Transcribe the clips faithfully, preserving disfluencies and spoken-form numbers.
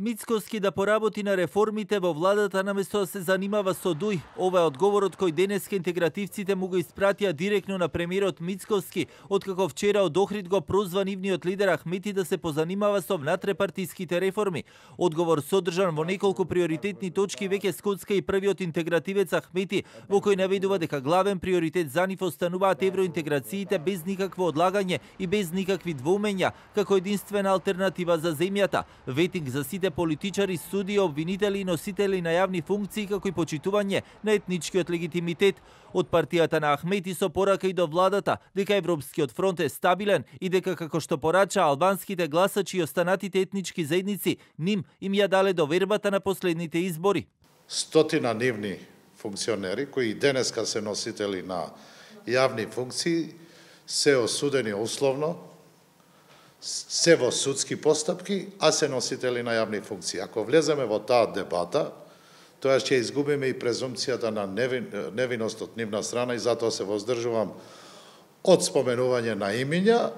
Мицковски да поработи на реформите во владата наместо да се занимава со Дуј. Ова е одговорот кој денеска интегративците му го испратија директно на премиерот Мицковски, откако вчера од Охрид го прозван нивниот лидер Ахмети да се позанимава со внатрепартиските реформи. Одговор содржан во неколку приоритетни точки веќе скоцка и првиот интегративец Ахмети, во кој наведува дека главен приоритет за нив остануваат евроинтеграциите без никакво одлагање и без никакви двоумења, како единствена алтернатива за земјата. Ветинг за сите политичари, судии, обвинители и носители на јавни функции, како и почитување на етничкиот легитимитет. Од партијата на Ахмети со порака и до владата дека Европскиот фронт е стабилен и дека, како што порача, албанските гласачи и останатите етнички заедници ним им ја дале довербата на последните избори. Стотина нивни функционери кои денеска се носители на јавни функции се осудени условно, се во судски постапки, а се носители на јавни функции. Ако влеземе во таа дебата, тоа ќе изгубиме и презумпцијата на невин, невиност од нивна страна и затоа се воздржувам од споменување на имиња,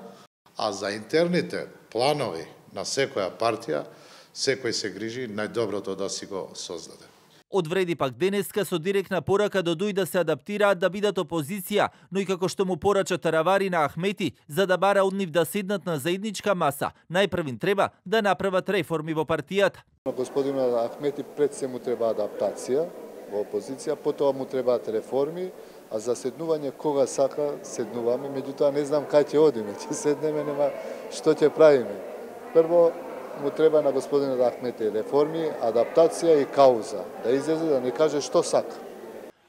а за интерните планови на секоја партија, секој се грижи најдоброто да си го создаде. Одвреди пак денеска со директна порака до Дуј да се адаптираат да бидат опозиција, но и како што му порача Таравари на Ахмети, за да бара од нив да седнат на заедничка маса, најпрвин треба да направат реформи во партијата. Господинот Ахмети пред се му треба адаптација во опозиција, потоа му требаат реформи, а за седнување кога сака седнуваме, меѓутоа не знам кај ќе одиме, ќе седнеме, нема што ќе правиме. Прво му треба на господинот Ахмети реформи, адаптација и кауза, да излезе да не каже што сака.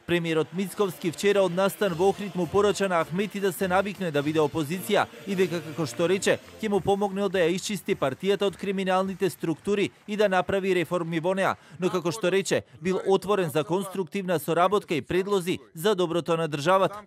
Премиерот Мицковски вчера од настан во Охрид му порача на Ахмети да се навикне да биде опозиција и дека, како што рече, ќе му помогне да ја исчисти партијата од криминалните структури и да направи реформи во неа, но како што рече, бил отворен за конструктивна соработка и предлози за доброто на државата.